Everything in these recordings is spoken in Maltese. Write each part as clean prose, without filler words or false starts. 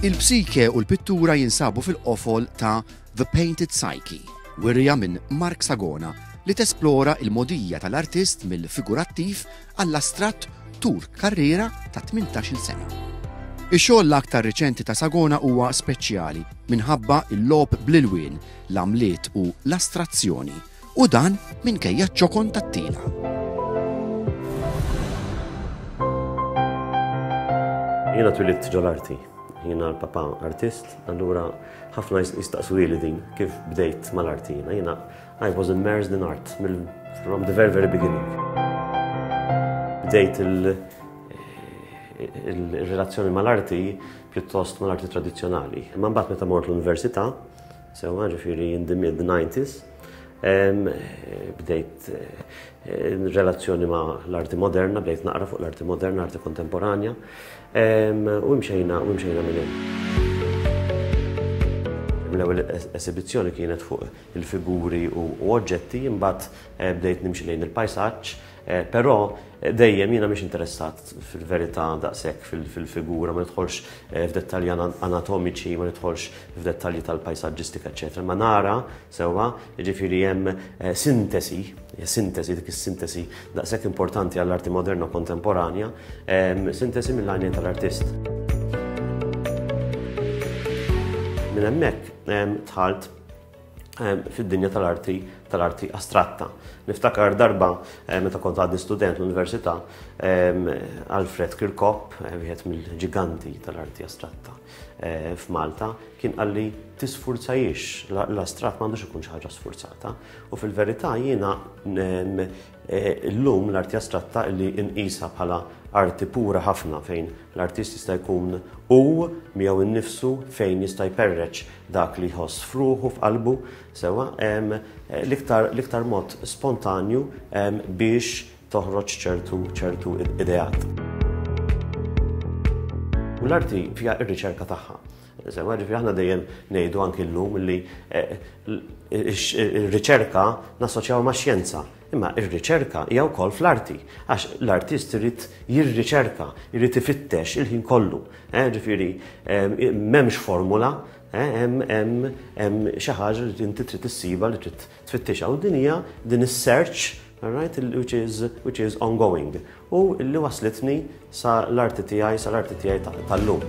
Il-psike u l-pittura jinsabu fil-qofol ta' The Painted Psyche, wirja minn Mark Sagona li tesplora il-mogħdija tal-artist mill-figurattiv għall-astratt tul karriera ta' 18-il sena. Ix-xogħol l-aktar riċenti ta' Sagona huwa speċjali minħabba l-logħob bl-ilwien, l-għamliet u l-astrazzjoni, u dan minkejja ċ-ċokon tat-tila. Jiena twilidt ġol-arti. Jiena l-papa artist, allura ħafna jistaqsuli din kif bdejt mal-arti jiena. Jiena I was immersed in art from the very very beginning. Bdejt il-relazzjoni mal-arti pjuttost mal-arti tradizzjonali. Imma mbagħad meta mort l-università, sewwa ġifieri in the mid-90s, bdejt eh, relazzjoni ma' l-arti moderna, bdejt naqra fuq l-arti moderna, arti kontemporanja, u mxejna u mxejna minn hemm. L-ewwel esibizzjoni kienet fuq il-figuri u oġġetti, imbagħad eh, bdejt nimxi lejn il-pajsaġġ, eh, però eh, dejjem jiena mhix interessat fil-verità daqshekk fil-figura, ma nidħolx f'dettalji anatomiċi, ma nidħolx f'dettalji tal-pajsaġġistika, eċetera. Ma nara sewwa, jiġifieri hemm sintesi, sintesi dik is-sintesi daqshekk importanti għall-arti moderna u kontemporanja, sintesi mill-għajnejn tal-artist. Minn hemmhekk dħalt fid-dinja tal-arti tal-arti astratta. Niftakar darba eh, meta kont għadni student l-università, Alfred Kirkop, eh, wieħed mill-ġiganti tal-arti astratta eh, f'Malta, kien qalli tisfurzajiex, l-astratt m'għandux ikun xi ħaġa sfurzata. U fil-verità jiena llum l-arti astratta li nqisha bħala arti pura ħafna fejn l-artist jista' jkun hu miegħu nnifsu fejn jista' jperreċ dak li jħoss f'ruħu f'qalbu sewwa l-iktar l-iktar mod spontanju biex toħroġ ċertu ċertu ideat. U l-arti fiha r-riċerka tagħha. Sewwa, ġifieri aħna dejjem ngħidu anki llum li eh, ir-riċerka nassoċjaw ma' xjenza. Imma ir-riċerka hija wkoll fl-arti, għax l-artist irid jirriċerka, irid ifittex il-ħin kollu. Eh, ġifieri eh, m'hemmx formula, hemm xi ħaġa li inti trid issiba li trid tfittixha. U din hija din is-search right, which is, which is ongoing. U li waslitni sa l-arti tiegħi, sa l-arti tiegħi tal-lum.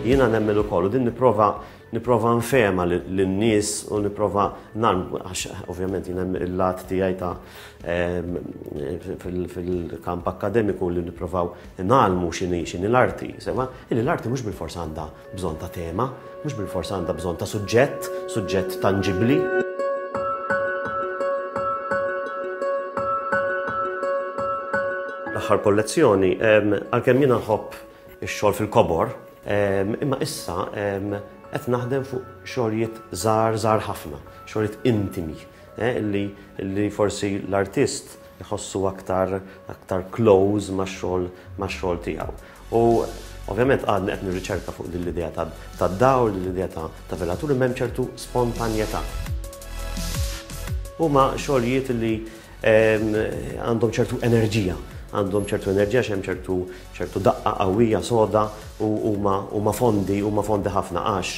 Jiena nemmen ukoll u din nipprova nipprova nfehma lin-nies u nipprova nan għax ovvjament jien hemm il-lat tiegħi ta' ehm, fil-kamp akkademiku li nipprovaw nagħlmu x'inhi x'inhi l-arti, sewa, illi l-arti mhux bilfors għandha bżonn ta' tema, mhux bilfors għandha bżonn ta' suġġett, suġġett tanġibbli. L-aħħar kollezzjoni, għalkemm jiena nħobb ix-xogħol fil-kobor, imma issa qed naħdem fuq xogħlijiet żgħar żgħar ħafna, xogħlijiet intimi, eh, li, li forsi l-artist iħossu aktar aktar close max-xogħol max-xogħol tiegħu. U ovvjament għadni qed nirriċerka fuq din l-idea tad-dawl, din l-idea ta' velatur, imma hemm ċertu spontanjetà. Huma xogħlijiet li ehm, għandhom ċertu enerġija, għandhom ċertu enerġija x'hemm ċertu ċertu daqqa qawwija soda u huma huma fondi, huma fondi ħafna għax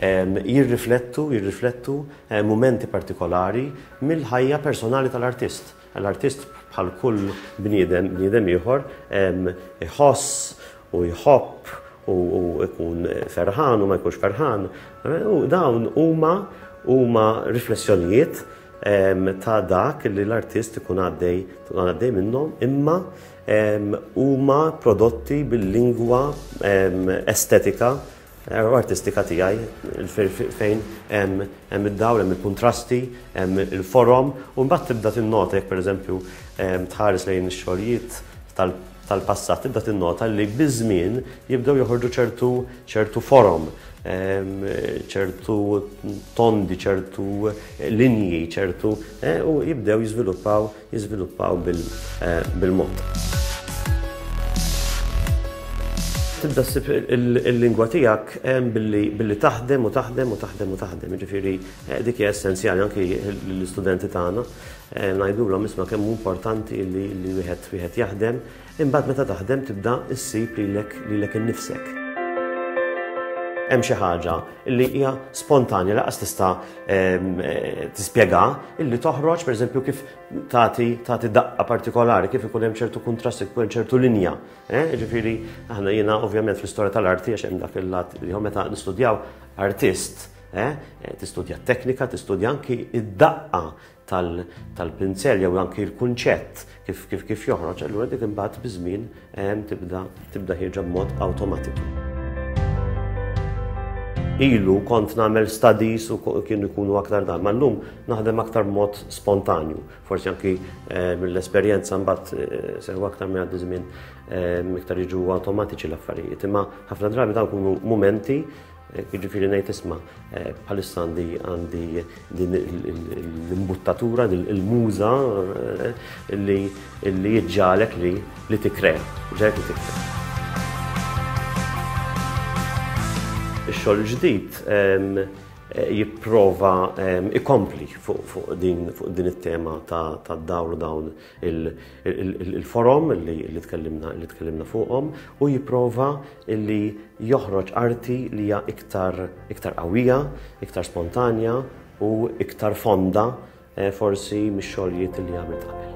ehm, jirriflettu jirriflettu eh, mumenti partikolari mill-ħajja personali tal-artist. L-artist bħal kull bniedem, bniedem ieħor, iħoss u jħobb u jkun ferħan u ma jkunx ferħan. U dawn huma huma riflessjonijiet ta' dak li l-artist ikun għaddej għaddej minnhom imma huma prodotti bil-lingwa estetika U artistika tiegħi fejn hemm id-dawl, hemm il-kuntrasti, hemm il-forom, u mbagħad tibda tinnota jekk pereżempju tħares lejn ix-xogħlijiet tal-passat, tibda tinnota li biż-żmien jibdew joħorġu ċertu ċertu forom, ċertu tondi, ċertu linji, ċertu eh, u jibdew jiżviluppaw jiżviluppaw bil-mod. Tibda ssib il-lingwa tiegħek billi taħdem u taħdem u taħdem u taħdem. Jiġifieri eh, dik hija essenzjali anki l-istudenti tagħna eh, ngħidulhom isma' kemm hu importanti li wieħed wieħed jaħdem, imbagħad meta taħdem tibda ssib lilek lilek innifsek. Hemm xi ħaġa li hija spontanja laqas tista' eh, tispjega illi toħroġ pereżempju kif tagħti tagħti daqqa partikolari, kif ikun hemm ċertu kuntrast, ikun hemm ċertu linja. Eh, ġifieri, aħna jiena ovvjament fl-istorja tal-arti għax hemm dak il-lat li meta nistudjaw artist, eh, tistudja t-teknika, tistudja anki id-daqqa tal-pinzell jew anki l-kunċett kif kif kif joħroġ, allura dik imbagħad biż-żmien eh, tibda tibda ħierġa b'mod awtomatiku. Ilu kont nagħmel studies u kienu jkunu aktar dan, ma llum naħdem aktar b'mod spontanju. Forsi anki eh, mill-esperjenza mbagħad eh, sew aktar minn għaddi żmien eh, iktar jiġu awtomatiċi l-affarijiet. Imma ħafna drabi dawn ikunu mumenti jiġifieri ngħid isma' bħalissa għandi għandi din l-imbuttatura, din il-muża li li jiġġalek li li tikrea, ġalek li tikrea. Ix-xogħol ġdid jipprova ikompli fuq din fuq din it-tema ta' dawl u dawn il-forom li tkellimna li tkellimna fuqhom u jipprova li joħroġ arti li hija iktar iktar qawwija, iktar spontanja u iktar fonda eh, forsi mix-xogħlijiet li għamilt qabel.